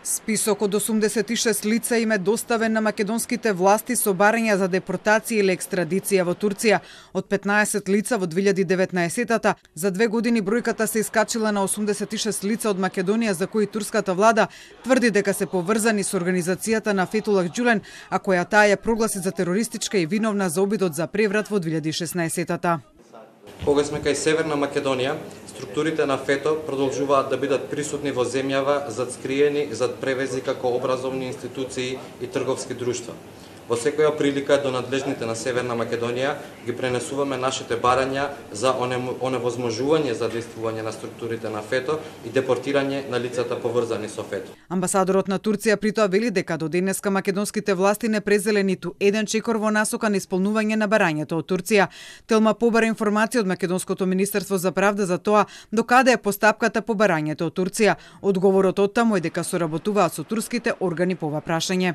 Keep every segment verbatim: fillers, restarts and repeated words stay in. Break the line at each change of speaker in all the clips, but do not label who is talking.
Список од осумдесет и шест лица им е доставен на македонските власти со барања за депортација или екстрадиција во Турција. Од петнаесет лица во две илјади и деветнаесетта за две години бројката се искачила на осумдесет и шест лица од Македонија за кои турската влада тврди дека се поврзани со организацијата на Фетулах Ѓулен, а која таа ја прогласи за терористичка и виновна за обидот за преврат во две илјади и шеснаесетта.
Кога сме кај Северна Македонија, структурите на ФЕТО продолжуваат да бидат присутни во земјава зад скриени зад превези како образовни институции и трговски друштва. Во секоја прилика до надлежните на Северна Македонија ги пренесуваме нашите барања за оневозможување за действување на структурите на ФЕТО и депортирање на лицата поврзани со ФЕТО.
Амбасадорот на Турција при тоа вели дека до денеска македонските власти не презеле ниту еден чекор во насока на исполнување на барањето од Турција. Телма побара информација од Македонското министерство за правда за тоа докаде е постапката по барањето од Турција. Одговорот од таму е дека соработуваат со турските органи по ова прашање.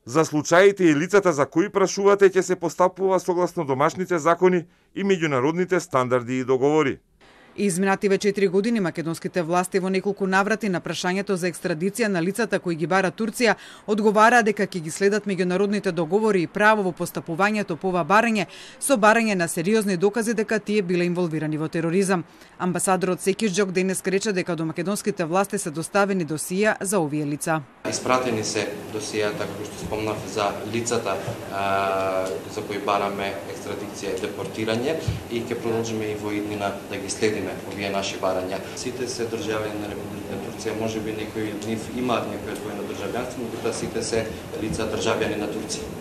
За случаите и лицата за кои прашувате ќе се постапува согласно домашните закони и меѓународните стандарди и договори.
Изминативе четири години македонските власти во неколку наврати на прашањето за екстрадиција на лицата кои ги бара Турција одговараа дека ќе ги следат меѓународните договори и право во постапувањето по ова барање со барање на сериозни докази дека тие биле инволвирани во тероризам. Амбасадорот Секиџџок денес рече дека до македонските власти се доставени досија за овие лица.
Испратени се досијата, како што спомнав, за лицата а, за кои бараме екстрадиција и депортирање и ќе продолжиме и во иднина да ги следиме овие наши барања. Сите се државјани на Република Турција, можеби некои од нив имаат некој двојно државјанство, но сите се лица државјани на Турција.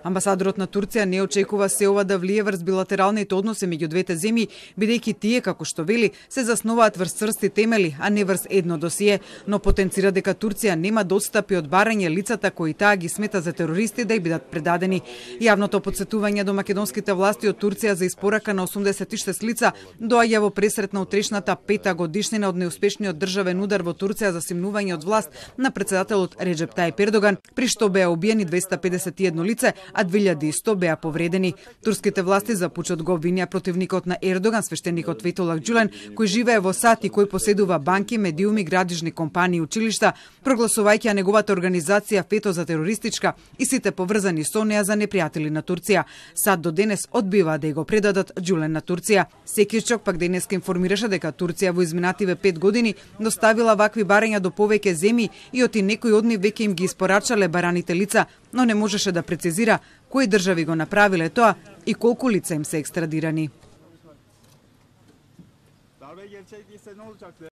Амбасадорот на Турција не очекува се ова да влие врз билатералните односи меѓу двете земји, бидејќи тие, како што вели, се засноваат врз цврсти темели, а не врз едно досие, но потенцира дека Турција нема да отстапи од барање лицата кои таа ги смета за терористи да ја бидат предадени. Јавното потсетување до македонските власти од Турција за испорака на осумдесет и шест лица доаѓа во пресрет на утрешната пета годишнина од неуспешниот државен удар во Турција за симнување од власт на претседателот Реџеп Тајип Ердоган, при што беа убиени двеста педесет и едно лице, а две илјади и сто беа повредени. Турските власти за пучот го обвинија противникот на Ердоган, свештеникот Фетулах Ѓулен, кој живее во САД и кој поседува банки, медиуми, градижни компании и училишта, прогласувајќи ја неговата организација ФЕТО за терористичка и сите поврзани со неа за непријатели на Турција. САД до денес одбива да го предадат Ѓулен на Турција. Секиџџок пак денеска информираше дека Турција во изминативе пет години доставила вакви барања до повеќе земји и оти некои од нив веќе им ги испорачале бараните лица, но не можеше да прецизира кои држави го направиле тоа и колку лица им се екстрадирани.